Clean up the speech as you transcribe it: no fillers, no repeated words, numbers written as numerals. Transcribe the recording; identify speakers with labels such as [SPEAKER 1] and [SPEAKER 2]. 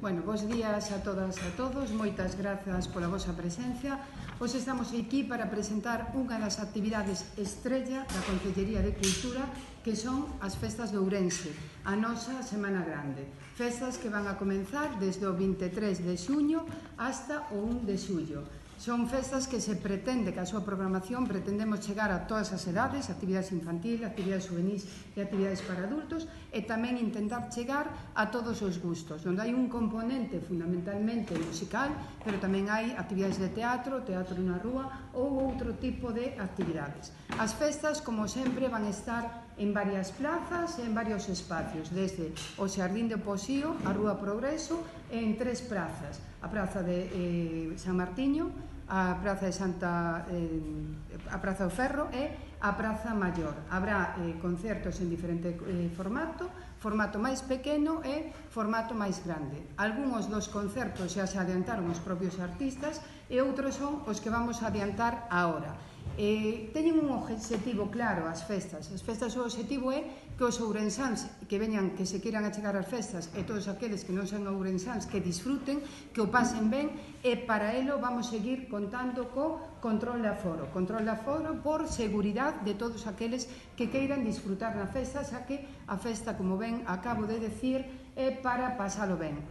[SPEAKER 1] Bueno, bons días a todas e a todos, moitas grazas pola vosa presencia. Hoxe estamos aquí para presentar unha das actividades estrella da Concellería de Cultura, que son as Festas de Ourense, a nosa Semana Grande. Festas que van a comenzar desde o 23 de xuño hasta o 1 de xullo. Son festas que se pretende, que a súa programación pretendemos chegar a todas as edades, actividades infantil, actividades juvenis e actividades para adultos, e tamén intentar chegar a todos os gustos, onde hai un componente fundamentalmente musical, pero tamén hai actividades de teatro, teatro na rúa ou outro tipo de actividades. As festas, como sempre, van estar en varias plazas e en varios espacios, desde o Xardín de Poxío, a Rúa Progreso, e en 3 prazas: a Praza de San Martiño, a Praza de a Praza do Ferro e a Praza Maior. Habrá concertos en diferente formato máis pequeno e formato máis grande. Algúns dos concertos xa se adiantaron os propios artistas e outros son os que vamos a adiantar agora. Teñen un obxectivo claro as festas. As festas, o obxectivo é que os ourensáns que se queiran achegar ás festas, e todos aqueles que non son ourensáns, que disfruten, que o pasen ben, e para elo vamos seguir contando co control de aforo por seguridade de todos aqueles que queiran disfrutar na festa, xa que a festa, como ben acabo de decir, é para pasalo ben.